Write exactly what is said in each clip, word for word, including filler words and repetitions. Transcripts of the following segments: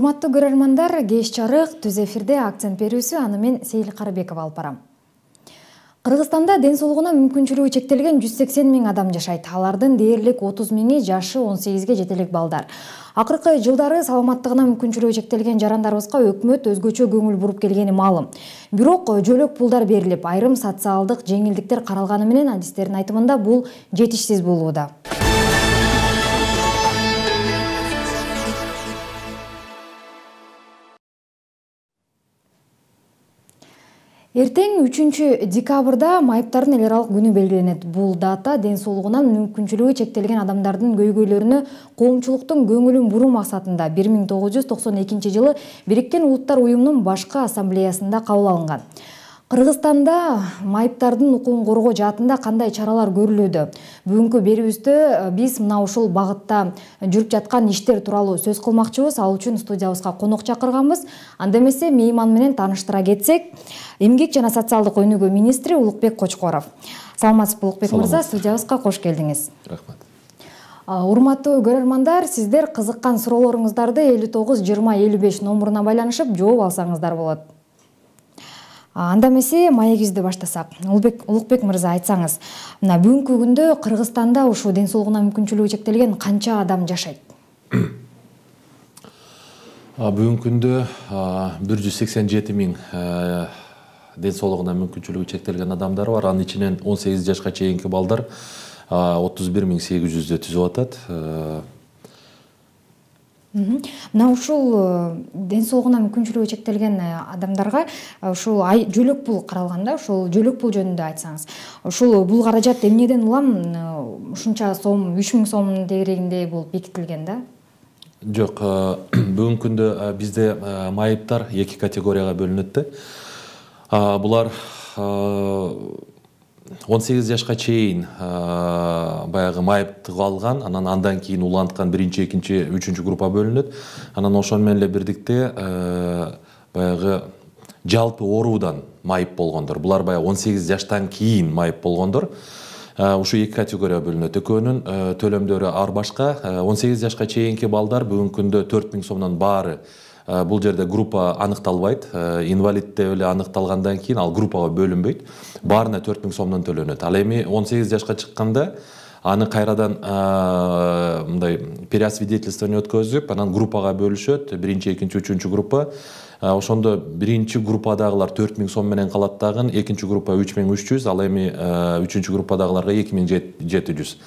Урматтуу көрөрмандар, кеш жарык түз эфирде акцент берүүсү аны мен Сейил Карыбекова алып барам. Кыргызстанда ден соолугуна мүмкүнчүлүгү чектелген жүз сексен миң адам жашайт. Алардын дээрлик отуз миңи жашы он сегизге жете элек балдар. Акыркы жылдары саламаттыгына мүмкүнчүлүгү чектелген жарандарыбызга өкмөт өзгөчө көңүл буруп келгени маалым. Бирок жөлөк пулдар берилип, айрым социалдык жеңилдиктер каралганы менен адистердин айтымында бул жетишсиз болууда. Эртең үчүнчү декабрда майыптардын эл аралык күнү белгиленет. Бул дата ден соолугунан мүмкүнчүлүгү чектелген адамдардын көйгөйлөрүнө коомчулуктун көңүлүн буруу максатында бир миң тогуз жүз токсон экинчи жылы Бириккен Улуттар уюмунун башкы ассамблеясында кабыл алынган. Кыргызстанда майыптардын укугун коргоо жаатында кандай чаралар көрүлүүдө? Бүгүнкү берүүбүздө биз мына ушул багытта жүрүп жаткан иштер тууралуу сөз кылмакчыбыз. Ал үчүн студиябызга конок чакырганбыз. Анда эмесе мейман менен тааныштыра кетсек, Эмгек жана социалдык өнүгүү министри Улукбек Кочкоров. Саламатсызбы, Улукбек мырза, студиябызга кош келдиңиз. Рахмат. Урматтуу көрөрмандар, сиздер кызыккан суроолоруңуздарды элүү тогуз жыйырма элүү беш номуруна байланышып жооп алсаңыздар болот. Анда эмесе маегибизди баштасак. Улукбек, Улукбек мырза, айтсаңыз, мына бүгүнкү күндө Кыргызстанда ушу ден соолугуна мүмкүнчүлүгү чектелген канча адам жашайт? Бүгүнкү күндө бир жүз сексен жети миң ден соолугуна мүмкүнчүлүгү чектелген адамдар бар. Анын ичинен он сегиз жашка чейинки балдар отуз бир миң сегиз жүздү түзүп атат. Мына ушул ден соолугуна мүмкүнчүлүгү чектелген адамдарга ушул жөлөк пул каралганда, ушул жөлөк пул жөнүндө айтсаңыз. Ушул бул каражат эмнеден улам ушунча сом, үч миң сомдун дегерегинде болуп бекитилген да? Жок, бүгүнкү күндө бизде майыптар эки категорияга бөлүнөт да. Булар он сегиз жашка чейин баягы майыптык алган, анан андан кийин уланткан биринчи, экинчи, үчүнчү группа бөлүнөт. Анан ошону менен эле бирдикте баягы жалпы оруудан майып болгондор. Булар баягы он сегиз жаштан кийин майып болгондор. Ушу эки категорияга бөлүнөт. Экөөнүн төлөмдөрү ар башка. он сегиз жашка чейинки балдар бүгүнкү күндө төрт миң сомдон баары. Бул жерде группа аныкталбайт. Инвалид деп эле аныкталгандан кийин ал группага бөлүнбөйт. Баарына төрт миң сомдон төлөнөт. Ал эми он сегиз жашка чыкканда аны кайрадан мындай переосвидетельствование өткөзүп, анан группага бөлүшөт. Биринчи, экинчи, үчүнчү группа. Ошондо биринчи группадагылар төрт миң сом менен калат дагы, экинчи группа үч миң үч жүз, ал эми үчүнчү группадагыларга эки миң жети жүз.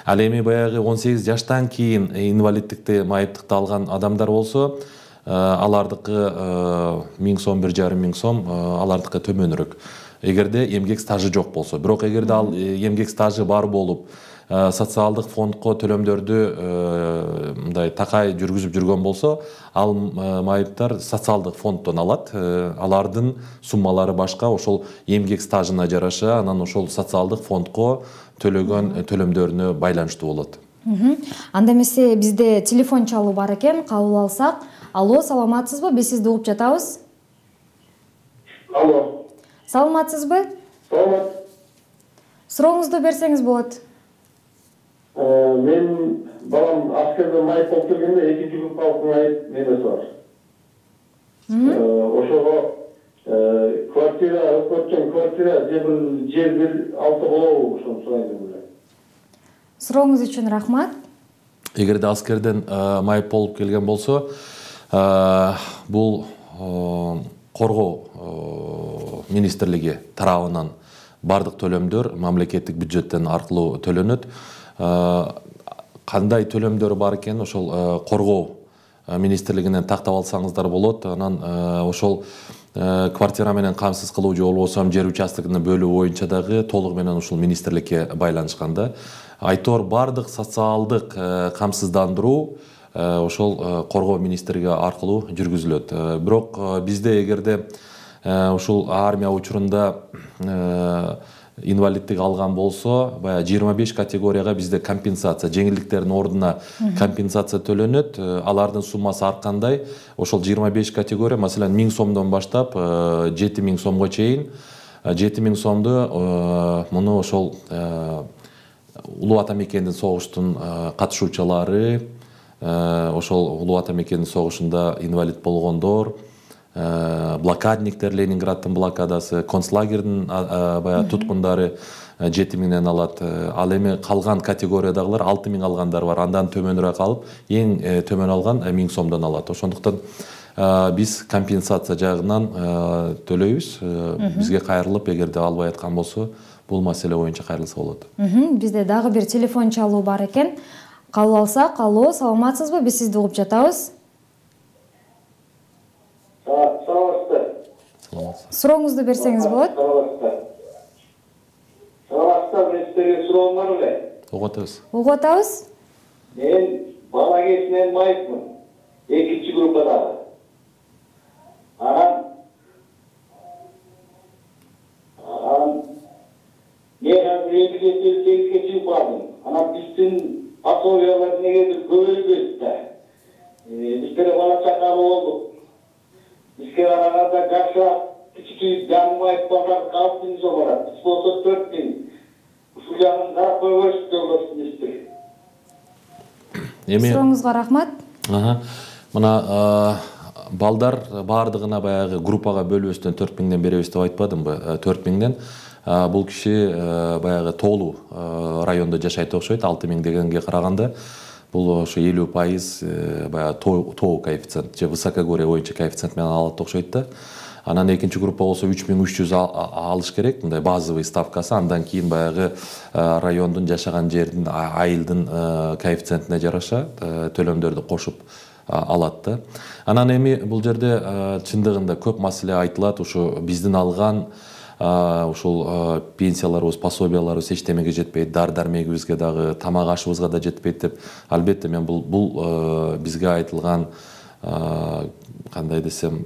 Ал эми баягы он сегиз жаштан кийин инвалиддикти, майыптыкты алган адамдар болсо, алардыкы миң сом, бир жарым миң сом, алардыкы төмөнүрөөк. Эгерде эмгек стажы жок болсо. Бирок эгерде ал эмгек стажы бар болуп, социалдык фондко төлөмдөрдү мындай такай жүргүзүп жүргөн болсо, ал майыптар социалдык фонддон алат. Алардын суммалары башка, ошол эмгек стажына жараша, анан ошол социалдык фондко төлөгөн төлөмдөрүнө байланыштуу болот. Анда эмесе бизде телефон чалуу бар экен, кабыл алсак. Алло, саламатсызбы? Биз сизди угуп жатабыз. Алло. Саламатсызбы? Саламат. Сурооңузду берсеңиз болот. Мен балам аскерден майып болуп келгенде экинчи группалык майып менде бар. Ошого квартира, өкмөттөн квартира же бир жер бир алса болобу, ошону сурайм эле. Сурооңуз үчүн рахмат. Эгерде аскерден майып болуп келген болсо, бул коргоо министрлиги тарабынан бардык төлөмдөр мамлекеттик бюджеттен аркылуу төлөнөт. Кандай төлөмдөр бар экен, ошол коргоо министрлигинен тактап алсаңыздар болот. Анан ошол квартира менен камсыз кылуу же болбосо жер участогун бөлүү боюнча дагы толугу менен ушул министрликке байланышканда. Айтор бардык социалдык камсыздандыруу ошол коргоо министрлиги аркылуу жүргүзүлөт. Бирок бизде эгерде ушул армия учурунда инвалиддик алган болсо, баягы жыйырма беш категорияга бизде компенсация, жеңилдиктердин ордуна компенсация төлөнөт. Алардын суммасы ар кандай. Ошол жыйырма беш категория, маселен, миң сомдон баштап жети миң сомго чейин, жети миң сомду муну ошол улуу ата мекендин согуштун катышуучулары, ошол улуу ата мекендин согушунда инвалид болгондор, блокадниктер, Ленинграддын блокадасы, концлагердин баягы туткундары жети миңден алат. Ал эми калган категориядагылар алты миң алгандар бар. Андан төмөнүрөөк алып, эң төмөн алган миң сомдон алат. Ошондуктан биз компенсация жагынан төлөйбүз. Бизге кайрылып, эгерде албай аткан болсо, бул маселе боюнча кайрылса болот. Бизде дагы бир телефон чалуу бар экен. Кабыл алсак, алло, саламатсызбы? Биз сизди угуп жатабыз. Саламатсызбы. Сурооңузду берсеңиз болот. Саламатсызбы, мен сизге суроом бар эле. Угуп атабыз. Угуп атабыз. Мен бала кезинен майыпмын. Экинчи группадагы. Анан Анан мен азыр элүү сегизге чыгып бардым. Анан биздин пособиялар негедир көбөйбөйт да. Биздер бала чакалуу болдук. Бизге караганда жакшыраак кичикей жаңмайып барган алты миң сом барат. Биз болсо төрт миң. Ушул жагын карап койбойсуз жолдошуңузду. Эми сурооңузга рахмат. Мына балдар баардыгына баягы группага бөлүбөстөн төрт миңден беребиз деп айтпадымбы? төрт миңден. Бул киши баягы тоолуу райондо жашайт окшойт, алты миң дегенге караганда. Бул ошо элүү пайыз баягы тоо коэффициент же высокогорье боюнча коэффициент менен алат окшойт да. Анан экинчи группа болсо үч миң үч жүз алыш керек, мындай базовый ставкасы. Андан кийин баягы райондун жашаган жердин, айылдын коэффициентине жараша төлөмдөрдү кошуп алат да. Анан эми бул жерде чындыгында көп маселе айтылат. Ушу биздин алган ушул пенсияларыбыз, пособияларыбыз эчтемеге жетпейт, дар-дармегибизге дагы, тамак ашыбызга да жетпейт деп. Албетте мен бул бул бизге айтылган кандай десем,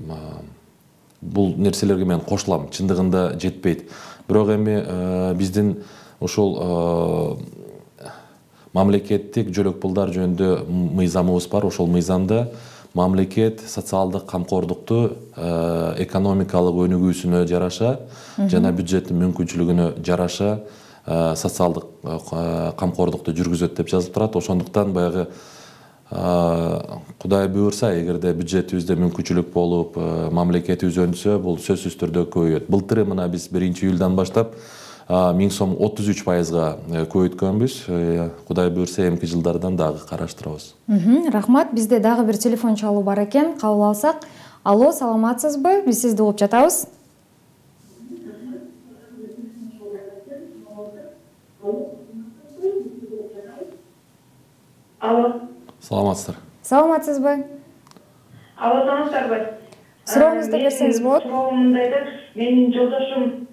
бул нерселерге мен кошулам. Чындыгында жетпейт. Бирок эми биздин ушул мамлекеттик жөлөк пулдар жөнүндө мыйзамыбыз бар. Ошол мыйзамда мамлекет социалдык камкордукту экономикалык өнүгүүсүнө жараша жана бюджеттин мүмкүнчүлүгүнө жараша социалдык камкордукту жүргүзөт деп жазылып турат. Ошондуктан баягы Кудай буйрса, эгерде бюджетибизде мүмкүнчүлүк болуп, мамлекетибиз өнсө, бул сөзсүз түрдө көбөйөт. Былтыры мына биз биринчи июлдан баштап миң сом отуз үч пайызга көбөйткөнбүз. Кудай буйрса, эмки жылдардан дагы караштырабыз. Рахмат. Бизде дагы бир телефон чалуу бар экен. Кабыл алсак. Алло, саламатсызбы? Биз сизди угуп жатабыз. Алло. Саламатсыздар. Саламатсызбы? Алло, саламатсыздарбы? Сурооңузду берсеңиз болот. Суроом мындайда, менин жолдошум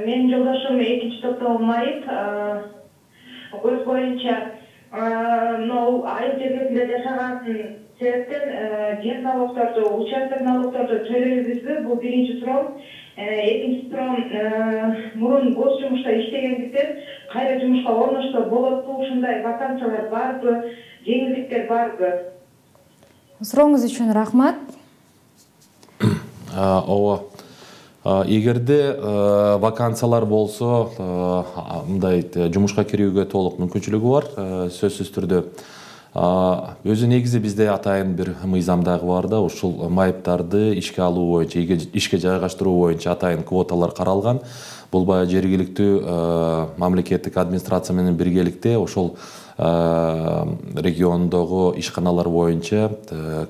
менин жолдошум экинчи топтогу майып, өз боюнча мына айыл жергесинде жашаган себептен жер налогдорду, участок налогдорду төлөйбүзбү? Бул биринчи суроом. Экинчи суроом, мурун гос жумушта иштегендиктен кайра жумушка орношсо болотпу? Ушундай вакансиялар барбы? Жеңилдиктер барбы? Сурооңуз үчүн рахмат. Ооба. Эгерде вакансиялар болсо, мындай жумушка кирүүгө толук мүмкүнчүлүгү бар, сөзсүз түрдө. Өзү негизи бизде атайын бир мыйзам дагы бар да, ушул майыптарды ишке алуу боюнча, ишке жайгаштыруу боюнча атайын квоталар каралган. Бул баягы жергиликтүү мамлекеттик администрация менен биргеликте ошол региондогу ишканалар боюнча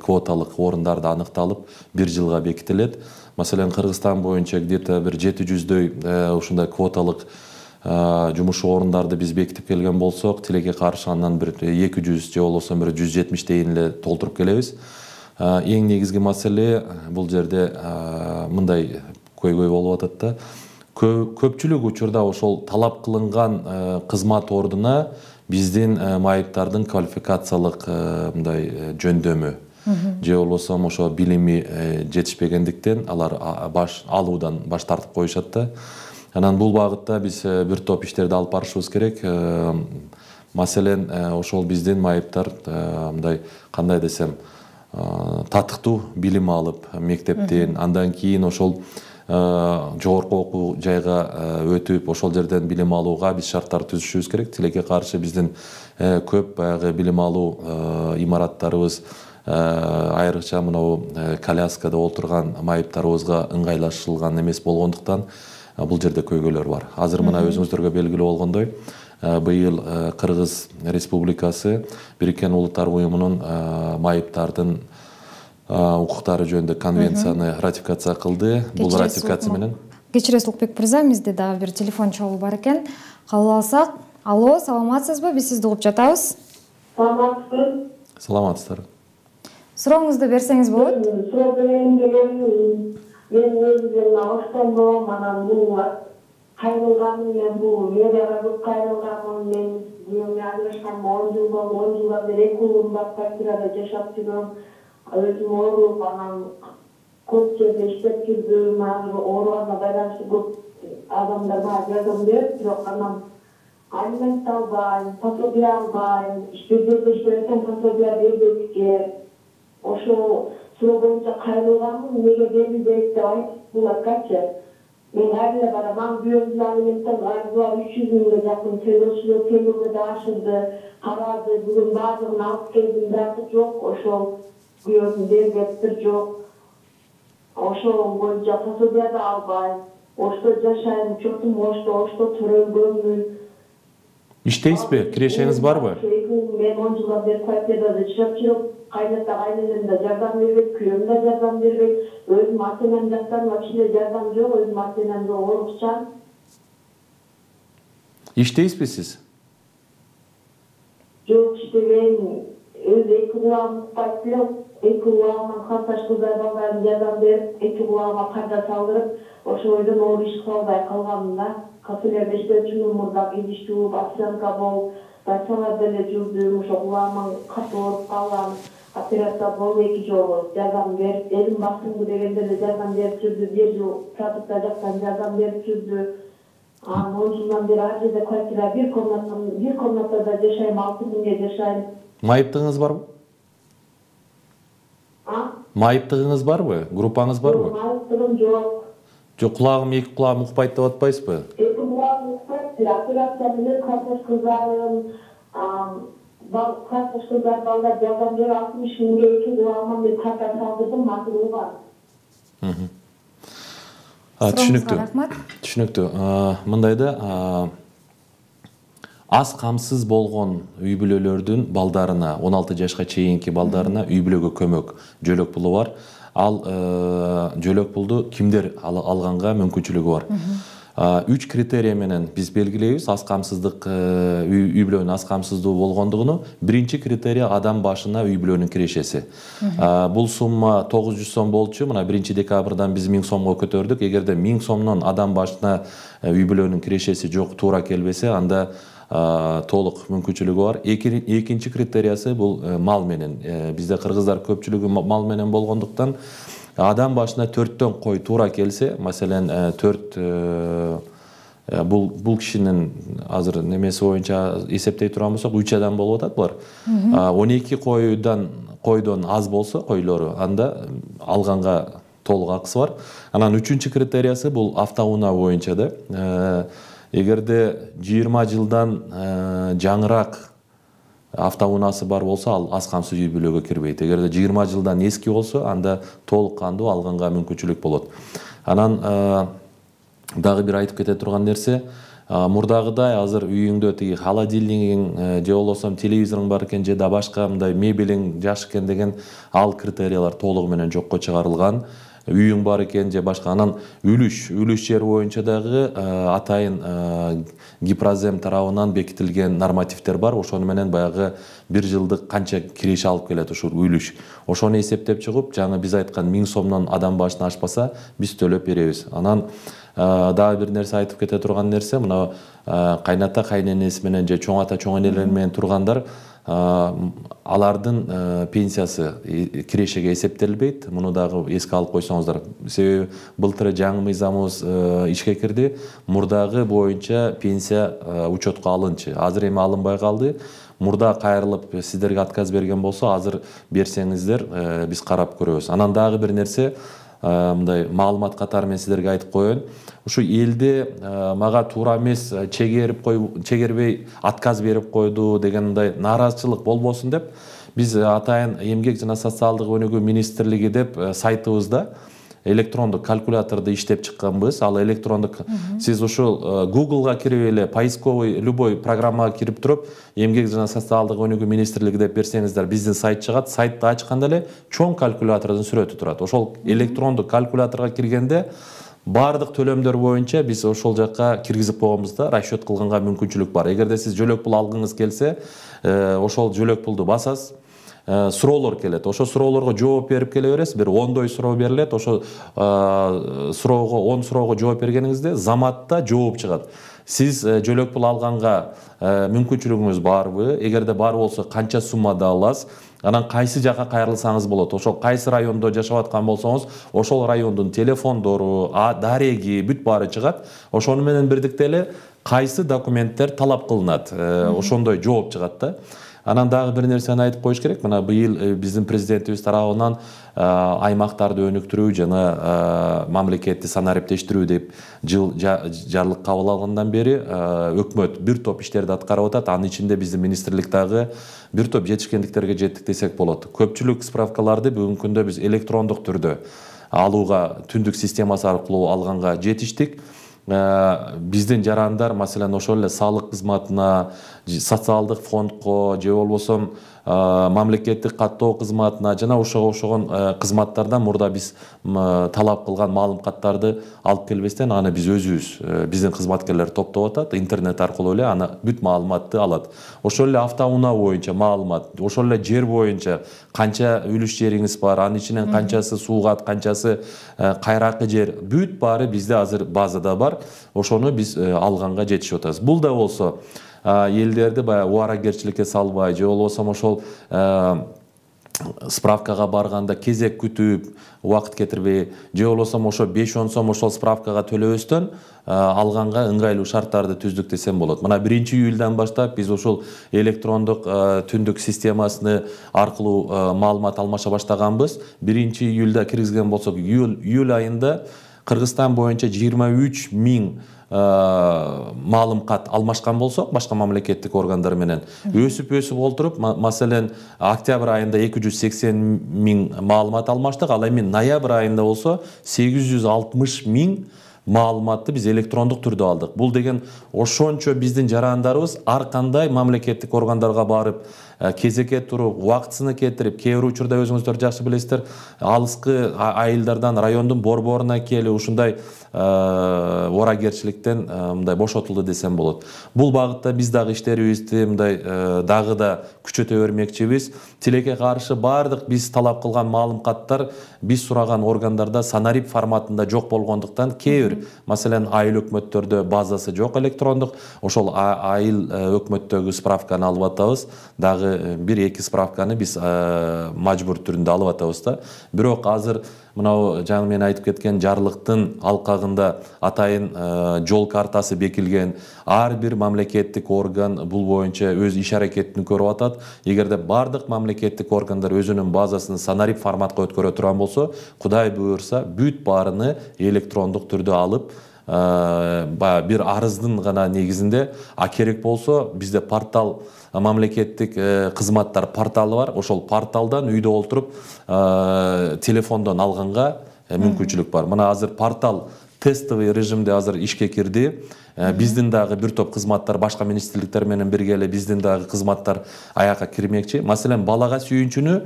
квоталык орундарды аныкталып, бир жылга бекитилет. Маселен, Кыргызстан боюнча где-то бир жети жүздөй ушундай квоталык жумуш орундарды биз бекитип келген болсок, тилекке каршы андан бир эки жүз же болбосо бир жүз жетимиштейин эле толтуруп келебиз. Эң негизги маселе бул жерде мындай көйгөй болуп атат да. Көпчүлүк учурда ошол талап кылынган кызмат ордуна биздин майыптардын квалификациялык мындай жөндөмү же болбосо ошо билими жетишпегендиктен алар баш алуудан баш тартып коюшат да. Анан бул багытта биз бир топ иштерди алып барышыбыз керек. Маселен, ошол биздин майыптар мындай кандай десем, татыктуу билим алып мектептен, андан кийин ошол жогорку окуу жайга өтүп ошол жерден билим алууга биз шарттар түзүшүбүз керек. Тилекке каршы биздин көп баягы билим алуу имараттарыбыз айрыкча мынау коляскада отурган майыптарыбызга ыңгайлашылган эмес болгондуктан бул жерде көйгөйлөр бар. Азыр мына өзүңүздөргө белгилүү болгондой, быйыл Кыргыз Республикасы Бириккен Улуттар Уюмунун майыптардын укуктары жөнүндө конвенцияны ратификация кылды. Бул ратификация менен кечиресиз Улукбек мырза, бизде дагы бир телефон чогуу бар экен. Кабыл алсак. Алло, саламатсызбы? Биз сизди угуп жатабыз. Саламатсызбы? Саламатсыздар. Сурооңузду берсеңиз болот. Суроо берейин дегеним, мен өзүм Оштондо анан бул кайрылганым, мен бул мэрияга көп кайрылганмын. Мен үйүмө ажырашканыма он жыл болду. он жылдан бери эки уулум бар квартирада жашап жүрөм. Өзүм ооруп, анан көп жерде иштеп жүрдүм. Азыр ооруганга байланыштуу көп адамдар мага жардам берип, бирок анан алимент албайм, пособие албайм, иштөөдө иштебесем пособие бербейт. Ошол суроо боюнча кайрылганмын, неге берилбейт деп айткылачы. Мен айлы барам, бүйөмдүн алименттен арзуар үч жүз миңге жакын төлөшүлөт, төлөмө да ашылды, карады, бүгүн баардыгын алып келдим, бирок жок, ошол бүйөмдүн бербептир жок. Ошол боюнча пособие да албайм. Ошто жашайм, чотум ошто, ошто төрөлгөнмүн. Иштейсизби? Кирешеңиз барбы? Мен он жылдан бери квартирада жашап жүрөм. Кайната кайненем да жардам бербейт, күйөөм да жардам бербейт. Өзүм ата-энем жактан вообще жардам жок, өзүм ата-энем да оорукчан. Иштейсизби сиз? Жок, иштебейм. Өзү эки кулагым укпайт эле, эки кулагыман калташ кыздар балдарым жардам берип, эки кулагыма парда салдырып, ошол бойдон оор иш кыла албай калганмын да. Кафелерде иштөөчүмүн, мурда идиш жууп, официантка болуп, бачаларда эле жүрдүм, ошо кулагыман катуу ооруп калган. Операция болду эки жолу, жардам берип, элим басымды дегенде эле жардам берип жүрдү, бир жыл продукта жактан жардам берип жүрдү. Анан он жылдан бери ар жерде квартира, бир комната, бир комнатада жашайм, алты миңге жашайм. Майыптыгыңыз барбы? А? Майыптыгыңыз барбы? Группаңыз барбы? Майыптыгым жок. Жок, кулагым эки кулагым укпайт деп атпайсызбы? Эки кулагым укпайт, операция менен картош кыздарым, картош кыздар балдар жардам берип алтымыш миңге эки кулагыма мен карта салдырдым, матылган. Түшүнүктүү. Рахмат. Түшүнүктүү. Мындай да, аз камсыз болгон үй бүлөлөрдүн балдарына, он алты жашка чейинки балдарына үй бүлөгө көмөк жөлөк пулу бар. Ал жөлөк пулду кимдер алганга мүмкүнчүлүгү бар? Үч критерий менен биз белгилейбиз аз камсыздык, үй бүлөнүн аз камсыздуу болгондугуну. Биринчи критерий адам башына үй бүлөнүн кирешеси. Бул сумма тогуз жүз сом болчу, мына биринчи декабрдан биз миң сомго көтөрдүк. Эгерде миң сомдон адам башына үй бүлөнүн кирешеси жок, туура келбесе, анда толук мүмкүнчүлүгү бар. Экинчи критериясы бул мал менен. Бизде кыргыздар көпчүлүгү мал менен болгондуктан адам башына төрттөн кой туура келсе, маселен төрт бул бул кишинин азыр немеси боюнча эсептей турган болсок үч адам болуп атат булар. он эки койдон койдон аз болсо койлору, анда алганга толук акысы бар. Анан үчүнчү критериясы бул автоунаа боюнча да. Эгерде жыйырма жылдан жаңыраак автоунаасы бар болсо, ал аз камсыз үй бүлөгө кирбейт. Эгерде жыйырма жылдан эски болсо, анда толук кандуу алганга мүмкүнчүлүк болот. Анан дагы бир айтып кете турган нерсе, мурдагыдай азыр үйүңдө тиги холодильнигиң же болбосо телевизоруң бар экен, же да башка мындай мебелиң жаш экен деген ал критериялар толугу менен жокко чыгарылган. Үйүң бар экен же башка. Анан үлүш, үлүш жер боюнча дагы атайын Гипрозем тарабынан бекитилген нормативдер бар. Ошону менен баягы бир жылдык канча киреше алып келет ушул үлүш. Ошону эсептеп чыгып, жаңы биз айткан миң сомдон адам башына ашпаса, биз төлөп беребиз. Анан дагы бир нерсе айтып кете турган нерсе, мына кайната кайненеси менен же чоң ата чоң энелер менен тургандар, алардын пенсиясы кирешеге эсептелбейт. Муну дагы эске алып койсоңуздар. Себеби былтыр жаңы мыйзамыбыз ишке кирди. Мурдагы боюнча пенсия учетко алынчы. Азыр эми алынбай калды. Мурда кайрылып сиздерге отказ берген болсо, азыр берсеңиздер биз карап көрөбүз. Анан дагы бир нерсе, мындай маалымат катары мен силерге айтып коеюн. Ушу элде мага туура эмес, чегерип кой, чегербей отказ берип койду деген мындай нааразычылык болбосун деп биз атайын эмгек жана социалдык өнүгүү министрлиги деп сайтыбызда электрондук калькуляторду иштеп чыкканбыз. Ал электрондук сиз ушул Google'га кирип эле поисковый любой программага кирип туруп эмгек жана социалдык өнүгүү министрлиги деп берсеңиздер биздин сайт чыгат. Сайтты ачканда эле чоң калькулятордун сүрөтү турат. Ошол электрондук калькуляторго киргенде бардык төлөмдөр боюнча биз ошол жакка киргизип койгонбузда расчет кылганга мүмкүнчүлүк бар. Эгерде сиз жөлөк пул алгыңыз келсе, ошол жөлөк пулду басасыз. Суроолор келет. Ошо суроолорго жооп берип келе бересиз. Бир ондой суроо берилет. Ошо суроого он суроого жооп бергениңизде заматта жооп чыгат. Сиз жөлөк пул алганга мүмкүнчүлүгүңүз барбы? Эгерде бар болсо канча суммада аласыз? Анан кайсы жака кайрылсаңыз болот. Ошол кайсы райондо жашап аткан болсоңуз, ошол райондун телефондору, дареги бүт баары чыгат. Ошону менен бирдикте эле кайсы документтер талап кылынат. Ошондой жооп чыгат да. Анан дагы бир нерсени айтып коюш керек. Мына быйыл биздин президентибиз тарабынан аймактарды өнүктүрүү жана мамлекетти санариптештирүү деп жыл жарлык кабыл алгандан бери өкмөт бир топ иштерди аткарып атат. Анын ичинде биздин министрлик дагы бир топ жетишкендиктерге жеттик десек болот. Көпчүлүк справкаларды бүгүнкү күндө биз электрондук түрдө алууга, түндүк системасы аркылуу алганга жетиштик. Биздин жарандар маселен ошол эле салык кызматына, социалдык фондко же болбосо мамлекеттик каттоо кызматына жана ошого окшогон кызматтардан мурда биз талап кылган маалыматтарды алып келбестен аны биз өзүбүз биздин кызматкерлер топтоп атат, интернет аркылуу эле аны бүт маалыматты алат. Ошол эле автоунаа боюнча маалымат, ошол эле жер боюнча канча үлүш жериңиз бар, анын ичинен канчасы суугат, канчасы кайракы жер, бүт баары бизде азыр базада бар. Ошону биз алганга жетишип атабыз. Бул да болсо элдерди баягы убаракерчиликке салбай, же болбосо ошол справкага барганда кезек күтүп, убакыт кетирбей, же болбосо ошо беш он сом ошол справкага төлөбөстөн алганга ыңгайлуу шарттарды түздүк десем болот. Мына биринчи июлдан баштап биз ошол электрондук түндүк системасыны аркылуу маалымат алмаша баштаганбыз. биринчи июлда киргизген болсок, июль айында Кыргызстан боюнча жыйырма үч миң маалымат алмашкан болсок, башка мамлекеттик органдар менен өсүп-өсүп олтуруп, маселен, октябрь айында эки жүз сексен миң маалымат алмаштык, ал эми ноябрь айында болсо сегиз жүз алтымыш миң маалыматты биз электрондук түрдө алдык. Бул деген ошончо биздин жарандарыбыз ар кандай мамлекеттик органдарга барып, кезекке туруп, убактысыны кетирип, кээ бир учурда өзүңүздөр жакшы билесиздер, алыскы айылдардан райондун борборуна келип ушундай убаракерчиликтен мындай бошотулду десем болот. Бул багытта биз дагы иштерибизди мындай дагы да күчөтө бермекчибиз. Тилекке каршы бардык биз талап кылган маалыматтар биз сураган органдарда санарип форматында жок болгондуктан кээ бир, маселен, айыл өкмөттөрдө базасы жок электрондук, ошол айыл өкмөттөгү справканы алып атабыз. Дагы бир-эки справканы биз мажбур түрүндө алып атабыз да. Бирок азыр мынау жаңы мен айтып кеткен жарлыктын алкагында атайын жол картасы бекилген. Ар бир мамлекеттик орган бул боюнча өз иш аракетин көрүп атат. Эгерде бардык мамлекеттик органдар өзүнүн базасын санарип форматка өткөрө турган болсо, Кудай буйрса, бүт баарыны электрондук түрдө алып, бир арыздын гана негизинде, а керек болсо бизде портал, мамлекеттик кызматтар порталы бар. Ошол порталдан үйдө олтуруп телефондон алганга мүмкүнчүлүк бар. Мына азыр портал тестовый режимде азыр ишке кирди. Биздин дагы бир топ кызматтар башка министрликтер менен бирге эле биздин дагы кызматтар аякка кирмекчи. Маселен, балага сүйүнчүнү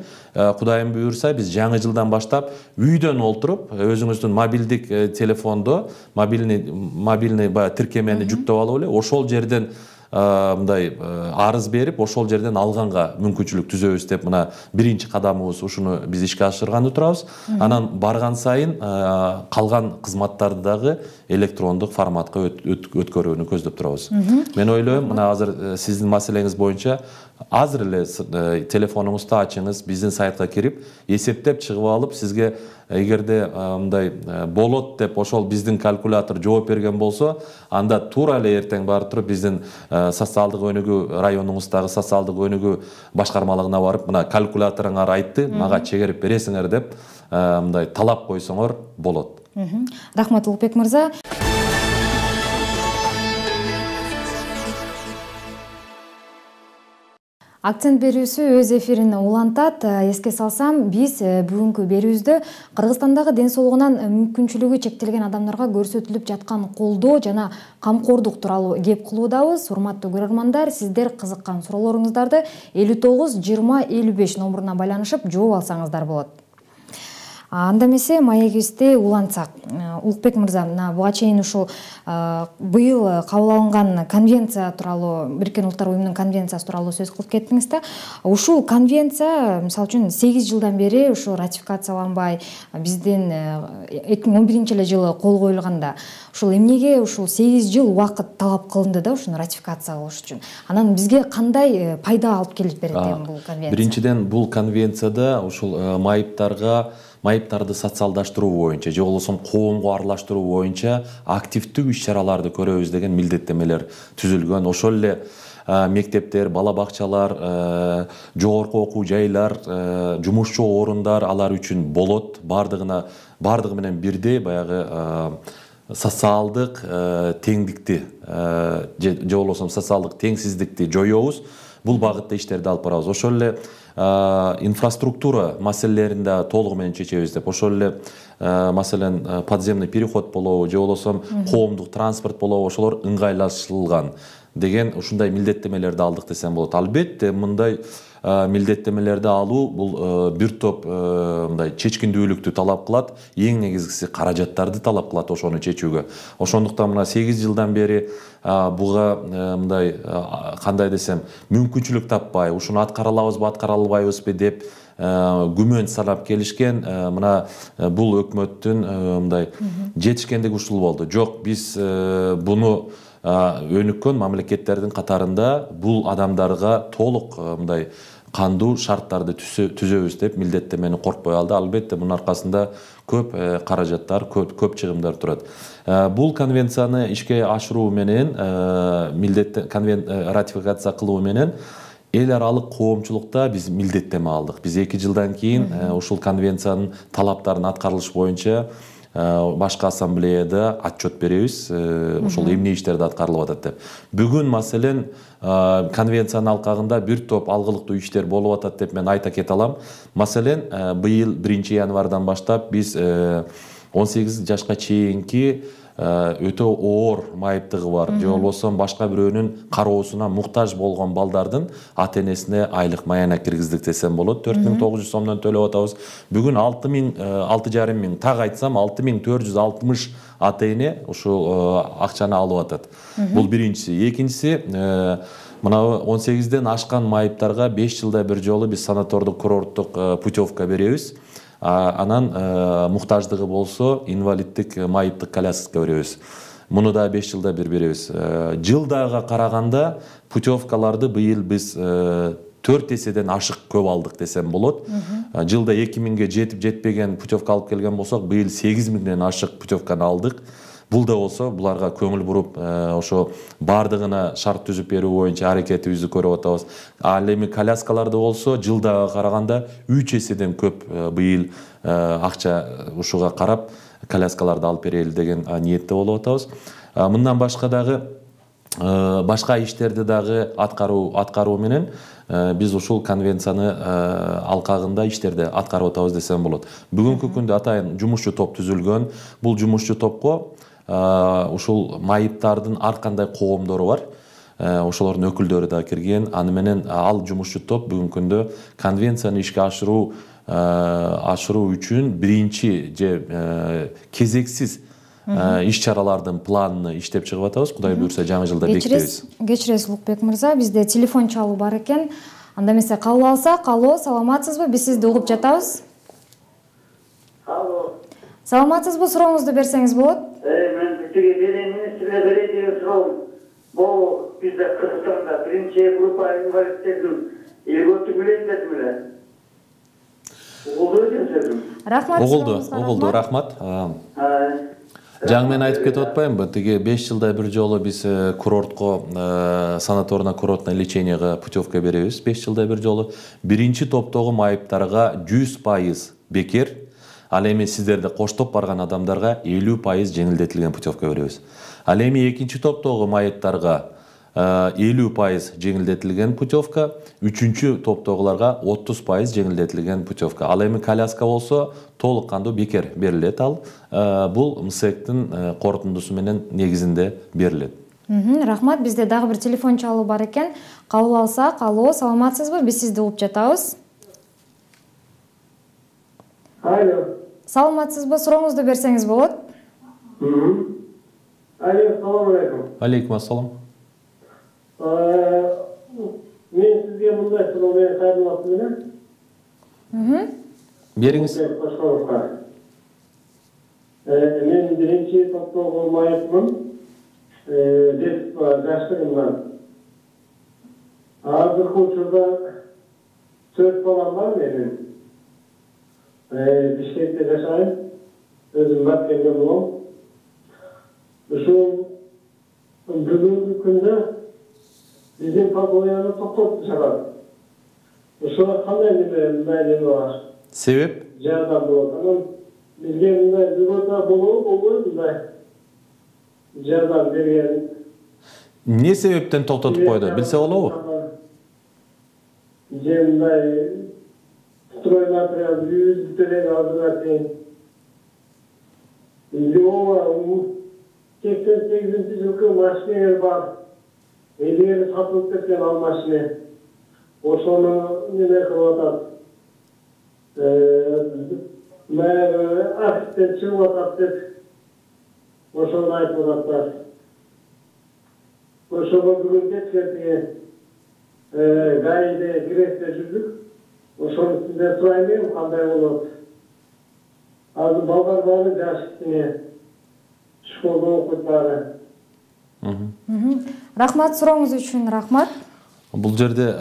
Кудайым буйрса биз жаңы жылдан баштап үйдөн олтуруп, өзүңүздүн мобилдик телефондо мобильный мобильный баягы тиркемени жүктөп алып эле ошол жерден мындай арыз берип, ошол жерден алганга мүмкүнчүлүк түзөбүз деп мына биринчи кадамыбыз ушуну биз ишке ашырганды турабыз. Анан барган сайын калган кызматтарды дагы электрондук форматка өткөрүүнү көздөп турабыз. Мен ойлойм, мына азыр сиздин маселеңиз боюнча азыр эле телефонуңузду ачыңыз, биздин сайтка кирип, эсептеп чыгып алып, сизге эгерде мындай болот деп ошол биздин калькулятор жооп берген болсо, анда туура эле эртең барып туруп биздин социалдык өнүгүү районуңуздагы социалдык өнүгүү башкармалыгына барып, мына калькуляторуңар айтты, мага чегерип бересиңер деп мындай талап койсоңор болот. Рахмат Улукбек мырза. Акцент берүүсү өз эфирин улантат. Эске салсам, биз бүгүнкү берүүбүздө Кыргызстандагы ден соолугунан мүмкүнчүлүгү чектелген адамдарга көрсөтүлүп жаткан колдоо жана камкордук тууралуу кеп кылуудабыз. Урматтуу көрөрмандар, сиздер кызыккан суроолоруңуздарды элүү тогуз жыйырма элүү беш номуруна байланышып жооп алсаңыздар болот. Анда эмесе маегибизди улантсак, Улукбек мырза, мына буга чейин ушул быйыл кабыл алынган конвенция тууралуу, Бириккен Улуттар уюмунун конвенциясы тууралуу сөз кылып кеттиңиз да. Ушул конвенция, мисалы үчүн, сегиз жылдан бери ушу ратификацияланбай, биздин эки миң он биринчи эле жылы кол коюлганда, ушул эмнеге ушул сегиз жыл убакыт талап кылынды да ушуну ратификация кылыш үчүн? Анан бизге кандай пайда алып келип берет эми бул конвенция? Биринчиден, бул конвенцияда ушул майыптарга майыптарды социалдаштыруу боюнча же болбосо коомго аралаштыруу боюнча активдүү иш-чараларды көрөбүз деген милдеттемелер түзүлгөн. Ошол эле мектептер, бала бакчалар, жогорку окуу жайлар, жумушчу орундар алар үчүн болот. Бардыгына бардыгы менен бирдей баягы социалдык теңдикти же болбосо социалдык теңсиздикти жоёбуз. Бул багытта иштерди алып барабыз. Ошол эле инфраструктура маселелерин да толугу менен чечебиз деп. Ошол эле маселен подземный переход болобу же болбосо коомдук транспорт болобу, ошолор ыңгайлашылган деген ушундай милдеттемелерди алдык десем болот. Албетте мындай милдеттемелерди алуу бул бир топ мындай чечкиндүүлүктү талап кылат, эң негизгиси каражаттарды талап кылат ошону чечүүгө. Ошондуктан мына сегиз жылдан бери буга мындай кандай десем, мүмкүнчүлүк таппай, ушуну аткара алабызбы, аткара албайбызбы деп күмөн санап келишкен. Мына бул өкмөттүн мындай жетишкендиги ушул болду. Жок, биз буну өнүккөн мамлекеттердин катарында бул адамдарга толук мындай кандуу шарттарды түзөбүз деп милдеттемени коркпой алды. Албетте мунун аркасында көп каражаттар, көп чыгымдар турат. Бул конвенцияны ишке ашыруу менен, милдет ратификация кылуу менен эл аралык коомчулукта биз милдеттеме алдык. Биз эки жылдан кийин ушул конвенциянын талаптарын аткарылыш боюнча башкы ассамблеяда отчет беребиз, ошол эмне иштерди аткарылып атат деп. Бүгүн маселен конвенциянын алкагында бир топ алгылыктуу иштер болуп атат деп мен айта кете алам. Маселен, быйыл биринчи январдан баштап биз он сегиз жашка чейинки өтө оор майыптыгы бар же болбосо башка бирөөнүн кароосуна муктаж болгон балдардын ата энесине айлык маяна киргиздик десем болот. төрт миң тогуз жүз сомдон төлөп атабыз. Бүгүн алты миң, алты жарым миң, так айтсам алты миң төрт жүз алтымыш ата эне ушул акчаны алып атат. Бул биринчиси. Экинчиси, мына он сегизден ашкан майыптарга беш жылда бир жолу биз санатордук курорттук путевка беребиз. Анан муктаждыгы болсо инвалиддик майыптык коляска беребиз. Муну да беш жылда бир беребиз. Жылдага караганда путевкаларды быйыл биз төрт эседен ашык көп алдык десем болот. Жылда эки миңге жетип жетпеген путевка алып келген болсок, быйыл сегиз миңден ашык путевканы алдык. Бул да болсо буларга көңүл буруп, ошо бардыгына шарт түзүп берүү боюнча аракетибизди көрүп атабыз. Ал эми коляскаларды болсо жылдага караганда үч эседен көп быйыл акча ушуга карап коляскаларды алып берели деген ниетте болуп атабыз. Мындан башка дагы башка иштерди дагы аткаруу аткаруу менен биз ушул конвенцияны алкагында иштерди аткарып атабыз десем болот. Бүгүнкү күндө атайын жумушчу топ түзүлгөн. Бул жумушчу топко ушул майыптардын ар кандай коомдору бар. Ошолордун өкүлдөрү да кирген. Аны менен ал жумушчу топ бүгүнкү күндө конвенцияны ишке ашыруу ашыруу үчүн биринчи же кезексиз иш-чаралардын планын иштеп чыгып атабыз. Кудай буйрса жаңы жылда бекитебиз. Кечиресиз Улукбек мырза, бизде телефон чалуу бар экен. Анда эмесе кабыл алсак. Алло, саламатсызбы? Биз сизди угуп жатабыз. Алло. Саламатсызбы? Сурооңузду берсеңиз болот. Мен сизге беремин, сизге берем суроом. Бул бизде Кыргызстанда биринчи группа инвалидтердин элгөтү билем дедим эле. Угулду десем. Рахмат. Угулду, угулду, рахмат. Жаңы мен айтып кетип атпаймынбы? Тиги беш жылда бир жолу биз курортко, санаторно-курортное леченияга путевка беребиз. беш жылда бир жолу. Биринчи топтогу майыптарга жүз пайыз бекер, Ал эми сиздерди коштоп барган адамдарга элүү пайыз жеңилдетилген путевка беребиз. Ал эми экинчи топтогу майыптарга элүү пайыз жеңилдетилген путевка, үчүнчү топтогуларга отуз пайыз жеңилдетилген путевка. Ал эми коляска болсо толук кандуу бекер берилет. Ал бул МСЭКтин корутундусу менен негизинде берилет. Рахмат, бизде дагы бир телефон чалуу бар экен. Кабыл алсак. Алло, саламатсызбы? Биз сизди угуп жатабыз. Алло. Саламатсызбы? Сурооңузду берсеңиз болот. Алло, салам алейкум. Алейкум ассалам. Мен сизге мындай суроо менен кайрылып атам. Бериңиз. Мен биринчи топтогу майыпмын. Деп жаштыгымдан. Азыркы учурда төрт балам бар менин. Бишкекте жашайм. Өзүм Баткенде болом. Ушул бүгүнкү күндө биздин Павлояны токтотуп чыгат. Ушуга кандай мындай неме бар? Себеп? Жардам болот. Анан бизге мындай бүгүнкү болобу, болбойбу мындай жардам берген. Не себептен токтотуп койду? Билсе болобу? Же мындай строй материал жүз төлөй алдыра чейин. Ооба, сексен сегизинчи жылкы машинелер бар. Элдер сатылып кеткен ал машина. Ошону неме кылып атат. Баягы аксидент чыгып атат деп ошону айтып атат. Ошого бүгүн кечке гаиде киресте жүрдүк. Ошону сизден сурайын, кандай болот? Азыр балдар баары жаш кичине. Школда окуйт баары. Рахмат, сурооңуз үчүн рахмат. Бул жерде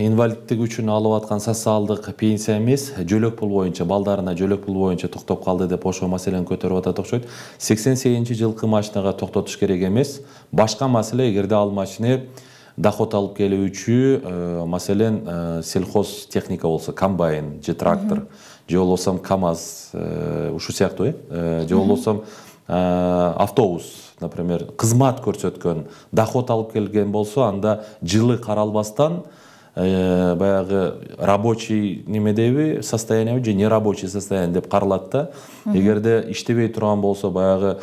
инвалидтик үчүн алып аткан социалдык пенсия эмес, жөлөк пул боюнча, балдарына жөлөк пул боюнча токтоп калды деп ошол маселени көтөрүп атат окшойт. сексен сегизинчи жылкы машинага токтотуш керек эмес. Башка маселе, эгерде ал машина доход алып келүүчү, маселен, сельхоз техника болсо, комбайн же трактор, же болбосо КАМАЗ, ушу сыяктуу, э, же болбосо автобус, например, кызмат көрсөткөн, доход алып келген болсо, анда жылы каралбастан баягы рабочий немедеби состояние же нерабочий состояние деп каралат да. Эгерде иштебей турган болсо, баягы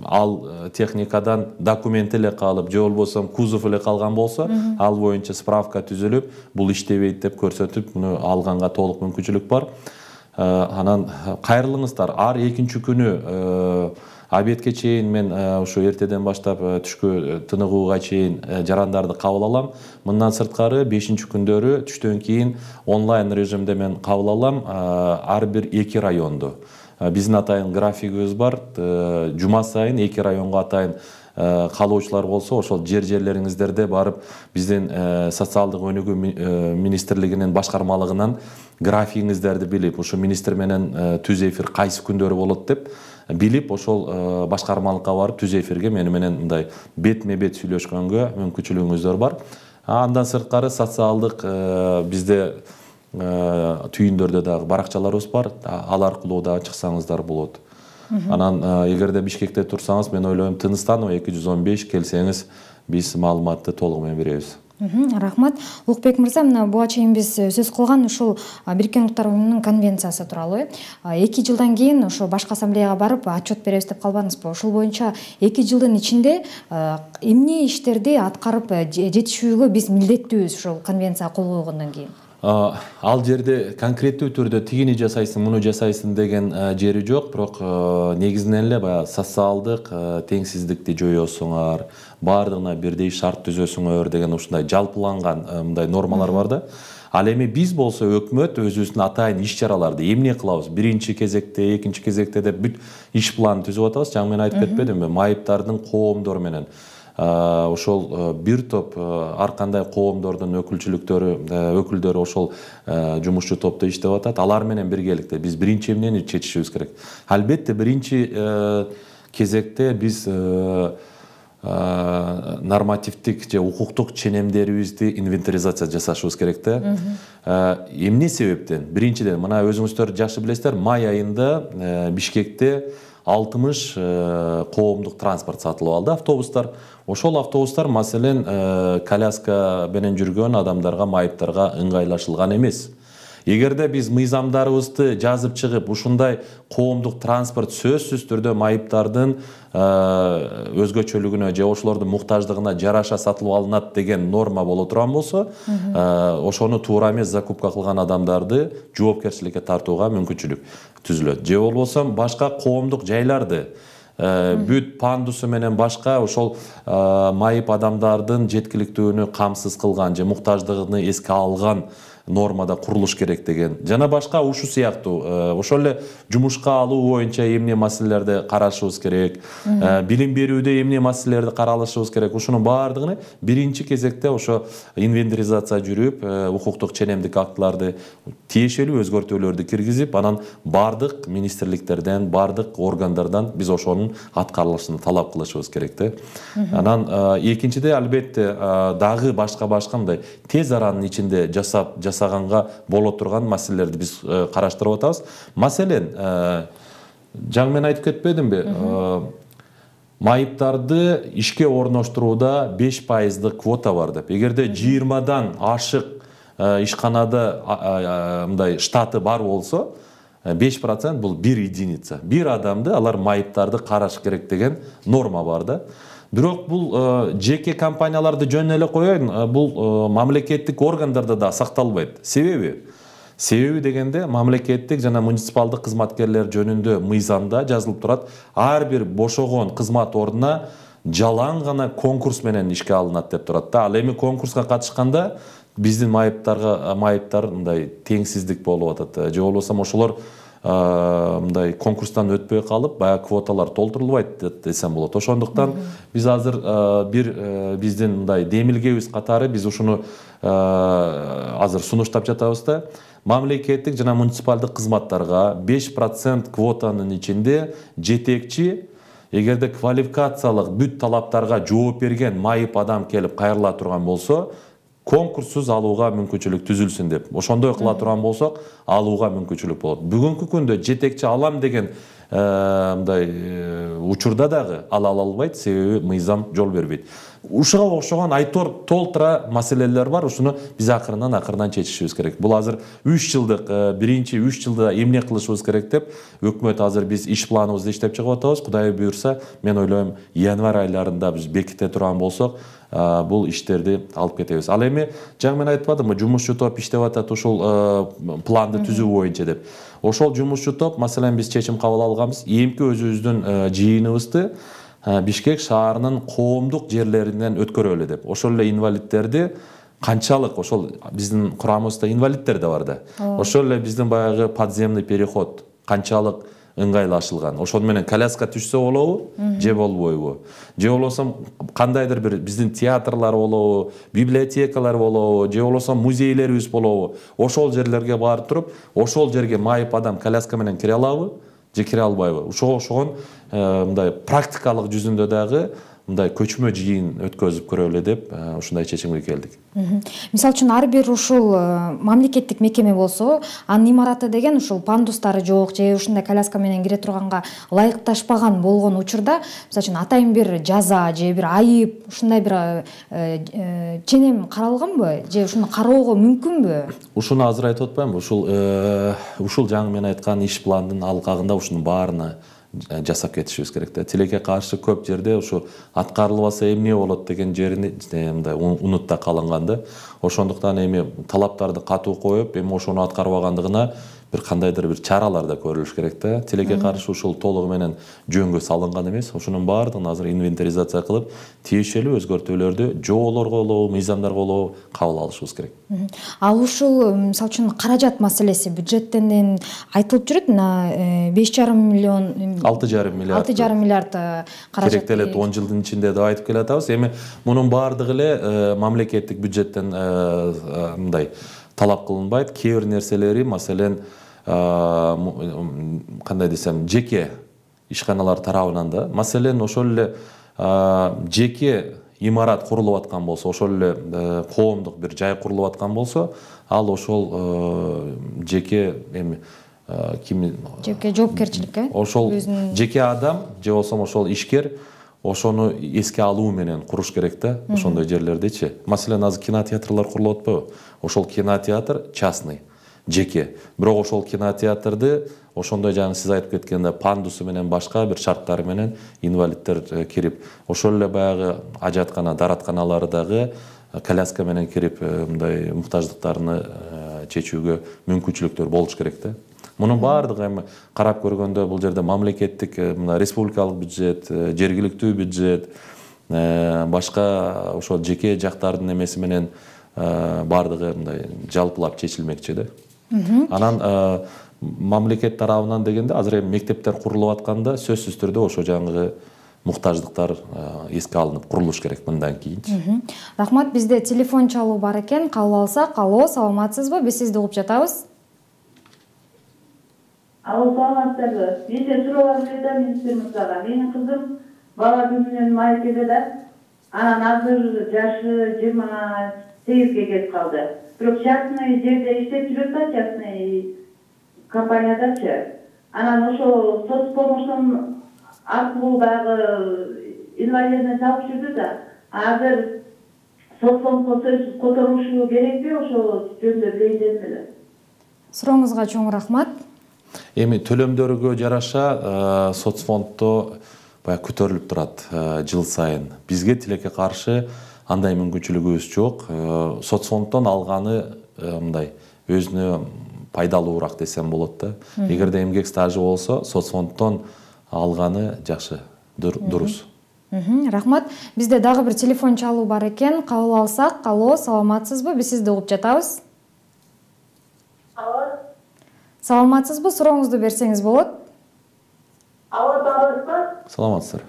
ал техникадан документ эле калып, же болбосо кузов эле калган болсо, ал боюнча справка түзүлүп, бул иштебейт деп көрсөтүп, муну алганга толук мүмкүнчүлүк бар. Анан кайрылыңыздар. Ар экинчи күнү обедке чейин мен ушу эртеден баштап түшкө тыныгууга чейин жарандарды кабыл алам. Мындан сырткары бешинчи күндөрү түштөн кийин онлайн режимде мен кабыл алам ар бир эки районду. Биздин атайын графигибиз бар. Жума сайын эки районго атайын калуучулар болсо, ошол жер жерлериңиздерде барып биздин социалдык өнүгүү министрлигинин башкармалыгынан графигиңиздерди билип, ушу министр менен түз эфир кайсы күндөрү болот деп билип, ошол башкармалыкка барып түз эфирге мени менен мындай бетме бет сүйлөшкөнгө мүмкүнчүлүгүңүздөр бар. Андан сырткары социалдык бизде түйүндөрдө дагы баракчаларыбыз бар. Ал аркылуу дагы чыксаңыздар болот. Анан эгерде Бишкекте турсаңыз, мен ойлойм Тыныстанова эки жүз он беш келсеңиз, биз маалыматты толугу менен беребиз. Рахмат. Улукбек мырза, мына буга чейин биз сөз кылган ушул Бириккен Улттар уюмунун конвенциясы тууралуу эки жылдан кийин ошо башкы ассамблеяга барып отчет беребиз деп калбадыңызбы? Ошол боюнча эки жылдын ичинде эмне иштерди аткарып жетишүүгө биз милдеттүүбүз ушул конвенция кол койгондон кийин? Ал жерде конкреттүү түрдө тигини жасайсың, муну жасайсың деген жери жок, бирок негизинен эле баягы социалдык теңсиздикти жоёсуңар, баардыгына бирдей шарт түзөсүңөр деген ушундай жалпыланган мындай нормалар бар да. Ал эми биз болсо өкмөт өзүбүздүн атайын иш чараларды эмне кылабыз? Биринчи кезекте, экинчи кезекте деп бүт иш планын түзүп атабыз. Жаңы мен айтып кетпедимби? Майыптардын коомдору менен ошол бир топ ар кандай коомдордун өкүлчүлүктөрү, өкүлдөрү ошол жумушчу топто иштеп атат. Алар менен биргеликте биз биринчи эмнени чечишибиз керек? Албетте биринчи кезекте биз нормативдик же укуктук ченемдерибизди инвентаризация жасашыбыз керек да. Эмне себептен? Биринчиден, мына өзүңүздөр жакшы билесиздер, май айында Бишкекте алтымыш коомдук транспорт сатылып алды, автобустар. Ошол автобустар маселен коляска менен жүргөн адамдарга, майыптарга ыңгайлашылган эмес. Эгерде биз мыйзамдарыбызды жазып чыгып, ушундай коомдук транспорт сөзсүз түрдө майыптардын өзгөчөлүгүнө же ошолордун муктаждыгына жараша сатылып алынат деген норма боло турган болсо, ошону туура эмес закупка кылган адамдарды жоопкерчиликке тартууга мүмкүнчүлүк түзүлөт. Же болбосо башка коомдук жайларды бүт пандусу менен башка ошол майып адамдардын жеткиликтүүлүгүнү камсыз кылган же муктаждыгын эске алган нормада курулуш керек деген жана башка ушу сыяктуу ошол эле жумушка алуу боюнча эмне маселелерди карашыбыз керек, билим берүүдө эмне маселелерди каралышыбыз керек, ушунун баардыгын биринчи кезекте ошо инвентаризация жүрүп, укуктук ченемдик актыларды тиешелүү өзгөртүүлөрдү киргизип, анан бардык министрликтерден, бардык органдардан биз ошонун аткарылышын талап кылышыбыз керек да. Анан экинчиде албетте дагы башка башка мындай тез аранын ичинде жасап жасаганга боло турган маселелерди биз караштырып атабыз. Маселен, жаңы мен айтып кетпедимби? Майыптарды ишке орноштурууда беш пайыздык квота бар деп. Эгерде жыйырмадан ашык ишканада мындай штаты бар болсо, беш процент бул бир единица. Бир адамды алар майыптарды караш керек деген норма бар да. Бирок бул жеке компанияларды жөн эле коеюн, бул мамлекеттик органдарда да сакталбайт. Себеби? Себеби дегенде мамлекеттик жана муниципалдык кызматкерлер жөнүндө мыйзамда жазылып турат, ар бир бошогон кызмат ордуна жалаң гана конкурс менен ишке алынат деп турат да. Ал эми конкурска катышканда биздин майыптарга майыптар мындай теңсиздик болуп атат. Же болбосо ошолор мындай конкурстан өтпөй калып, баягы квоталар толтурулбайт десем болот. Ошондуктан биз азыр бир биздин мындай демилгебиз катары биз ушуну азыр сунуштап жатабыз да. Мамлекеттик жана муниципалдык кызматтарга беш процент квотанын ичинде жетекчи, эгерде квалификациялык бүт талаптарга жооп берген майып адам келип кайрыла турган болсо, конкурссуз алууга мүмкүнчүлүк түзүлсүн деп. Ошондой кыла турган болсок, алууга мүмкүнчүлүк болот. Бүгүнкү күндө жетекчи алам деген мындай учурда дагы ала албайт, себеби мыйзам жол бербейт. Ушуга окшогон айтор толтура маселелер бар. Ушуну биз акырынан акырынан чечишибиз керек. Бул азыр үч жылдык, биринчи үч жылда эмне кылышыбыз керек деп өкмөт азыр биз иш планыбызды иштеп чыгып атабыз. Кудай буйрса, мен ойлойм, январь айларында биз беките турган болсок, бул иштерди алып кетебиз. Ал эми жаңы мен айтпадымбы, жумушчу топ иштеп атат ушул планды түзүү боюнча деп. Ошол жумушчу топ, маселен, биз чечим кабыл алганбыз, эмки өзүбүздүн жыйыныбызды Бишкек шаарынын коомдук жерлеринен өткөрөлү деп. Ошол эле инвалидтерди канчалык, ошол биздин курамыбызда инвалидтер да бар да. Ошол эле биздин баягы подземный переход канчалык ыңгайлашылган. Ошону менен коляска түшсө болобу, же болбойбу? Же болбосо кандайдыр бир биздин театрлар болобу, библиотекалар болобу, же болбосо музейлерибиз болобу? Ошол жерлерге барып туруп, ошол жерге майып адам коляска менен кире алабы, же кире албайбы? Ошого окшогон мындай практикалык жүзүндө дагы мындай көчмө жыйын өткөзүп көрөлү деп ушундай чечимге келдик. Мисалы үчүн ар бир ушул мамлекеттик мекеме болсо, анын имараты деген ушул пандустары жок же ушундай коляска менен кире турганга ылайыкташпаган болгон учурда, мисалы үчүн атайын бир жаза же бир айып, ушундай бир ченем каралганбы же ушуну кароого мүмкүнбү? Ушуну азыр айтып атпаймынбы? Ушул ушул жаңы мен айткан иш пландын алкагында ушунун баарына жасап кетишибиз керек да. Тилекке каршы көп жерде ушу аткарылбаса эмне болот деген жерини мындай унутта калынган да. Ошондуктан эми талаптарды катуу коюп, эми ошону аткарбагандыгына бир кандайдыр бир чаралар да көрүлүш керек да. Тилекке каршы ушул толугу менен жөнгө салынган эмес. Ошонун баардыгын азыр инвентаризация кылып, тиешелүү өзгөртүүлөрдү жоолорго болобу, мыйзамдарга болобу кабыл алышыбыз керек. Ал ушул мисалы үчүн каражат маселеси бюджеттен айтылып жүрөт, мына беш жарым миллион алты жарым миллиард алты жарым миллиард каражат керектелет он жылдын ичинде деп айтып келатабыз. Эми мунун баардыгы эле мамлекеттик бюджеттен мындай талап кылынбайт. Кээ бир нерселери, маселен, кандай десем, жеке ишканалар тарабынан да, маселен, ошол эле жеке имарат курулуп аткан болсо, ошол эле коомдук бир жай курулуп аткан болсо, ал ошол жеке эми ким жеке жоопкерчиликке ошол жеке адам же болбосо ошол ишкер ошону эске алуу менен куруш керек да, ошондой жерлердичи. Маселен, азыр кинотеатрлар курулуп атпайбы? Ошол кинотеатр частный, жеке. Бирок ошол кинотеатрды ошондой жаңы сиз айтып кеткендей пандусу менен башка бир шарттары менен инвалиддер кирип, ошол эле баягы ажаткана, даратканалары дагы коляска менен кирип, мындай муктаждыктарыны чечүүгө мүмкүнчүлүктөр болуш керек да. Мунун баардыгы эми карап көргөндө бул жерде мамлекеттик, мына республикалык бюджет, жергиликтүү бюджет, башка ошол жеке жактардын эмеси менен баардыгы мындай жалпылап чечилмекчи да. Анан мамлекет тарабынан дегенде азыр эми мектептер курулуп атканда сөзсүз түрдө ошо жаңы муктаждыктар эске алынып курулуш керек мындан кийинчи. Рахмат, бизде телефон чалуу бар экен, кабыл алсак. Алло, саламатсызбы? Биз сизди угуп жатабыз. Алло, саламатсызбы? Мен суроо берем министр мырзага. Менин кызым бала күнүнөн майкеде да, анан азыр жашы жыйырма сегизге келип калды. Бирок частный жерде иштеп жүрөт да, частный компаниядачы. Анан ошо соцпомощтун аркылуу дагы инвалидный салып жүрдү да. Азыр соцпомощ которушу керекпи, ошо жөнүндө билейин дедим эле. Сурооңузга чоң рахмат. Эми төлөмдөргө жараша соцфонддо баягы көтөрүлүп турат жыл сайын. Бизге тилекке каршы андай мүмкүнчүлүгүбүз жок. Соцфонддон алганы мындай өзүнө пайдалуураак десем болот да. Эгерде эмгек стажы болсо, соцфонддон алганы жакшы, дурус. Рахмат. Бизде дагы бир телефон чалуу бар экен. Кабыл алсак. Алло, саламатсызбы? Биз сизди угуп жатабыз. Алло. Саламатсызбы? Сурооңузду берсеңиз болот. Алло, саламатсызбы? Саламатсыздар.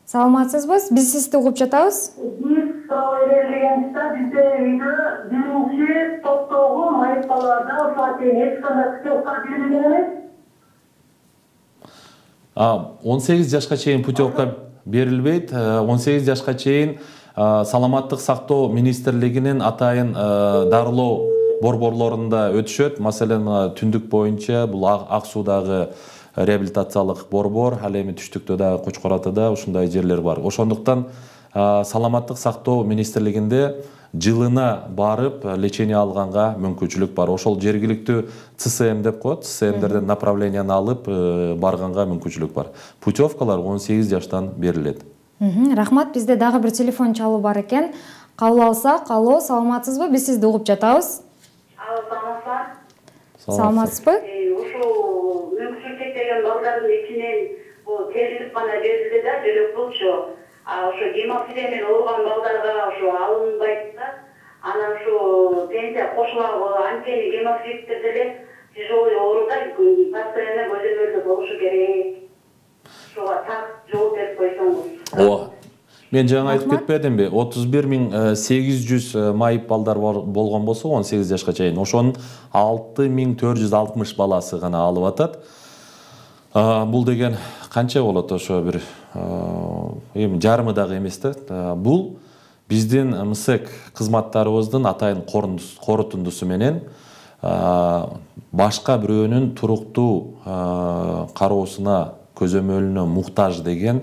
Саламатсызбы? Биз сизди угуп жатабыз. Биз суроо берилгенде бизде үйдө биринчи топтогу майыпталарда ошо тең эч кандай путевка берилген эмес. он сегиз жашка чейин путевка берилбейт. он сегиз жашка чейин саламаттык сактоо министрлигинин атайын дарылоо борборлорунда өтүшөт. Маселен, түндүк боюнча бул Ак Суудагы реабилитациялык борбор, ал эми түштүктө дагы Кочкор Атада ушундай жерлер бар. Ошондуктан саламаттык сактоо министрлигинде жылына барып лечение алганга мүмкүнчүлүк бар. Ошол жергиликтүү ЦСМ деп коет, ЦСМдерден направленияны алып барганга мүмкүнчүлүк бар. Путевкалар он сегиз жаштан берилет. Рахмат, бизде дагы бир телефон чалуу бар экен. Кабыл алсак. Алло, саламатсызбы? Биз сизди угуп жатабыз. Алло, саламатсызбы? Саламатсызбы? Ушул мүмкүнчүлүк чектелген балдардын ичинен бул терилип гана берилди да, жөлөк болчу. Ошо гемофилиямен ооруган балдарга ошо алынбайт да. Анан ушу пенсия кошулабы, анткени гемофиликтер деле тяжелый ооруда постоянно көзөмөлдө болушу керек. Ошого так жооп берип койсоңуз. Ооба. Мен жаңа айтып кетпедимби? отуз бир миң сегиз жүз майып балдар болгон болсо он сегиз жашка чейин, ошонун алты миң төрт жүз алтымыш баласы гана алып атат. Бул деген канча болот? Ошо бир эми жарымы дагы эмес да. Бул биздин МСЭК кызматтарыбыздын атайын корутундусу менен башка бирөөнүн туруктуу кароосуна, көзөмөлүнө муктаж деген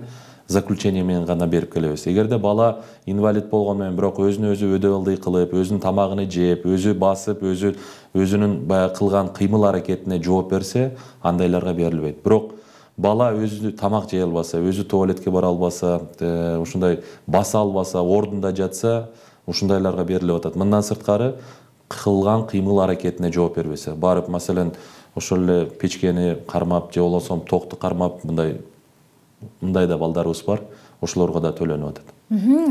заключение менен гана берип келебиз. Эгерде бала инвалид болгону менен бирок өзүнө өзү өдө ылдый кылып, өзүнүн тамагын жеп, өзү басып, өзү өзүнүн баягы кылган кыймыл аракетине жооп берсе, андайларга берилбейт. Бирок бала өзү тамак жей албаса, өзү туалетке бара албаса, ушундай баса албаса, ордунда жатса, ушундайларга берилип атат. Мындан сырткары кылган кыймыл аракетине жооп бербесе, барып, маселен, ошол эле печкени кармап же болбосо токту кармап, мындай мындай да балдарыбыз бар, ошолорго да төлөнүп атат.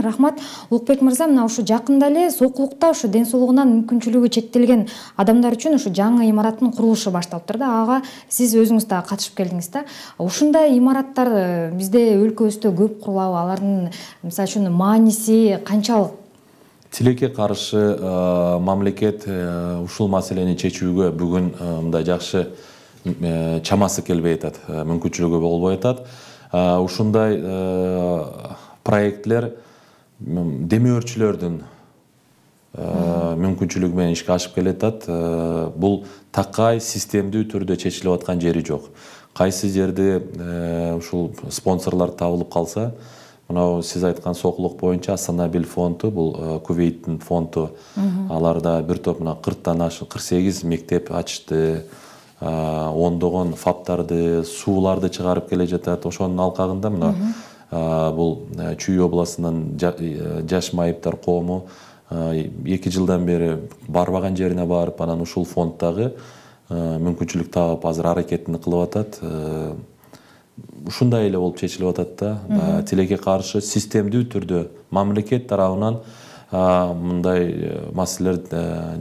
Рахмат. Улукбек мырза, мына ушу жакында эле Сокулукта ушу ден соолугунан мүмкүнчүлүгү чектелген адамдар үчүн ушу жаңы имараттын курулушу башталыптыр да. Ага сиз өзүңүз да катышып келдиңиз да. Ушундай имараттар бизде өлкөбүздө көп курулабы? Алардын мисалы үчүн мааниси канчалык? Тилекке каршы мамлекет ушул маселени чечүүгө бүгүн мындай жакшы чамасы келбей атат, мүмкүнчүлүгү болбой атат. ушундай проектлер демөөрчүлөрдүн мүмкүнчүлүгү менен ишке ашып келатат. Бул такай системдүү түрдө чечилип аткан жери жок. Кайсы жерде ушул спонсорлор табылып калса, мына сиз айткан сокулук боюнча Астана-Бил фонду, бул Кувейттин фонду, аларда бир топ мына кырктан ашык кырк сегиз мектеп ачты, ондогон фаптарды, сууларды чыгарып келе жатат. Ошонун алкагында мына бул Чүй областынын жаш майыптар коому эки жылдан бери барбаган жерине барып, анан ушул фонддагы мүмкүнчүлүк таап азыр аракетин кылып атат. Ушундай эле болуп чечилип атат да. Тилекке каршы системдүү түрдө мамлекет тарабынан мындай маселелер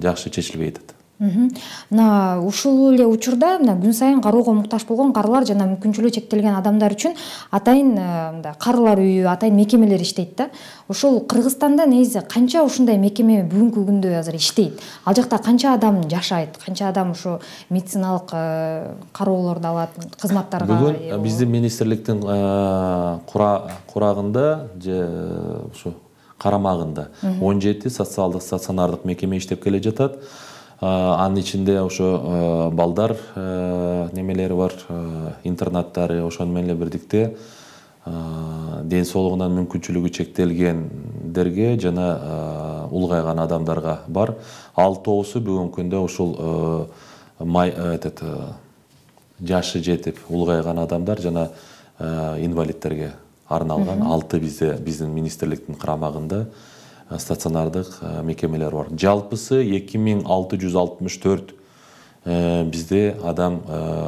жакшы чечилбей атат. Мына ушул эле учурда мына күн сайын кароого муктаж болгон карылар жана мүмкүнчүлүгү чектелген адамдар үчүн атайын мындай карылар үйү, атайын мекемелер иштейт да. Ушул Кыргызстанда негизи канча ушундай мекеме бүгүнкү күндө азыр иштейт? Ал жакта канча адам жашайт? Канча адам ушу медициналык кароолорду алат, кызматтарга? Бүгүн биздин министрликтин курагында же ушу карамагында он жети социалдык стационардык мекеме иштеп келе жатат. Анын ичинде ошо балдар немелери бар, интернаттары, ошону менен бирдикте ден соолугунан мүмкүнчүлүгү чектелгендерге жана улгайган адамдарга бар. Алтоосу бүгүнкү күндө ушул жашы жетип улгайган адамдар жана инвалидтерге арналган алты бизде биздин министрликтин карамагында стационардык мекемелер бар. Жалпысы эки миң алты жүз алтымыш төрт бизде адам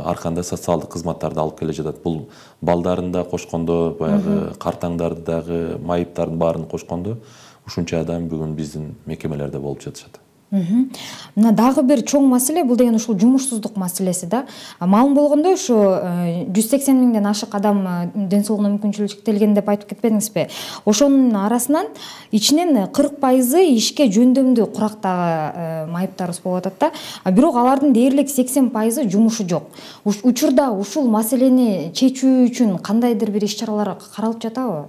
арканда социалдык кызматтарды алып келе жатат. Бул балдарын да кошкондо, баягы картаңдарды дагы, майыптардын баарын кошкондо ушунча адам бүгүн биздин мекемелерде болуп жатышат. Мына дагы бир чоң маселе бул деген ушул жумушсуздук маселеси да. Маалым болгондой ушу жүз сексен миңден ашык адам ден соолугуна мүмкүнчүлүгү чектелген деп айтып кетпедиңизби? Ошонун арасынан ичинен кырк пайызы ишке жөндөмдүү курактагы майыптарыбыз болуп атат да. Бирок алардын дээрлик сексен пайызы жумушу жок. Учурда ушул маселени чечүү үчүн кандайдыр бир иш-чаралар каралып жатабы?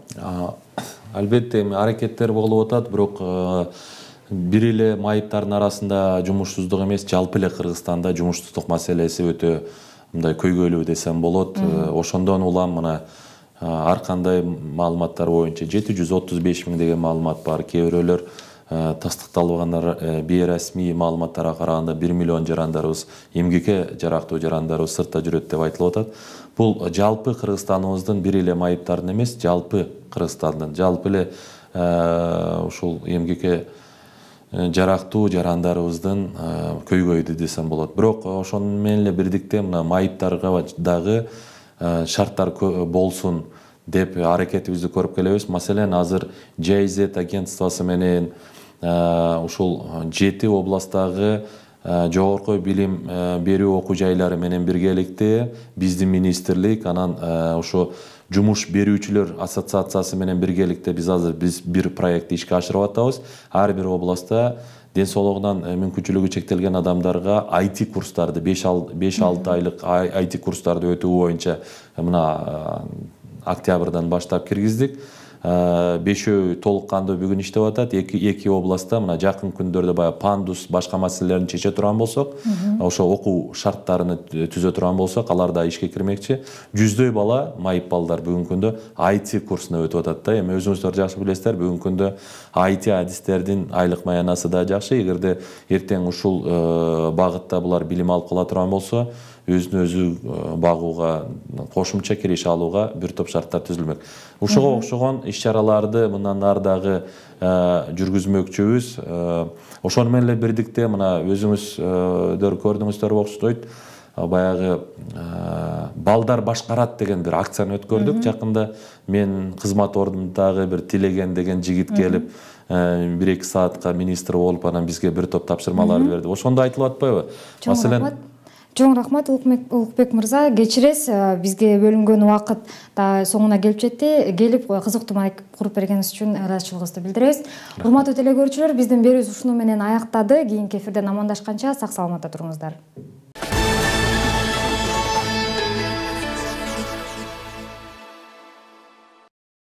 Албетте аракеттер болуп атат, бирок бир эле майыптардын арасында жумушсуздук эмес, жалпы эле Кыргызстанда жумушсуздук маселеси өтө мындай көйгөйлүү десем болот. Ошондон улам мына ар кандай маалыматтар боюнча жети жүз отуз беш миң деген маалымат бар. Кээ бирөөлөр тастыкталбаган бейресмий маалыматтарга караганда бир миллион жарандарыбыз, эмгекке жарактуу жарандарыбыз сыртта жүрөт деп айтылып атат. Бул жалпы Кыргызстаныбыздын бир эле майыптардын эмес, жалпы Кыргызстандын, жалпы эле ушул эмгекке жарактуу жарандарыбыздын көйгөйдү десем болот. Бирок ошону менен эле бирдикте мына майыптарга дагы шарттар болсун деп аракетибизди көрүп келебиз. Маселен, азыр джей ай зет агентствосу менен ушул жети областтагы жогорку билим берүү окуу жайлары менен биргеликте биздин министрлик анан ушу жумуш берүүчүлөр ассоциациясы менен биргеликте биз азыр биз бир проектти ишке ашырып атабыз. Ар бир областта ден соолугунан мүмкүнчүлүгү чектелген адамдарга ай ти курстарды беш алты айлык ай ти курстарды өтүү боюнча мына октябрдан баштап киргиздик. Бешөө толук кандуу бүгүн иштеп атат. Эки областта мына жакын күндөрдө баягы пандус башка маселелерин чече турган болсок, ошо окуу шарттарын түзө турган болсок, алар да ишке кирмекчи. Жүздөй бала, майып балдар бүгүнкү күндө ай ти курсуна өтүп атат да. Эми өзүңүздөр жакшы билесиздер, бүгүнкү күндө ай ти адистердин айлык маянасы да жакшы. Эгерде эртең ушул багытта булар билим алып кала турган болсо, өзүн өзү багууга, кошумча кириш алууга бир топ шарттар түзүлмөк. Ушуга окшогон иш-чараларды мындан ары дагы жүргүзмөкчүбүз. Ошону менен эле бирдикте мына өзүңүздөр көрдүңүздөр окшойт. Баягы балдар башкарат деген бир акцияны өткөрдүк. Жакында мен кызмат ордумдагы бир Тилеген деген жигит келип бир эки саатка министр болуп анан бизге бир топ тапшырмаларды берди. Ошондо айтылып атпайбы? Маселен, чоң рахмат Улукбек мырза. Кечиресиз, бизге бөлүнгөн убакыт да соңуна келип жетти. Келип кызыктуу маек куруп бергениңиз үчүн ыраазычылыгыбызды билдиребиз. Урматтуу телекөрүүчүлөр, биздин берүүбүз ушуну менен аяктады. Кийинки эфирден амандашканча сак саламатта туруңуздар.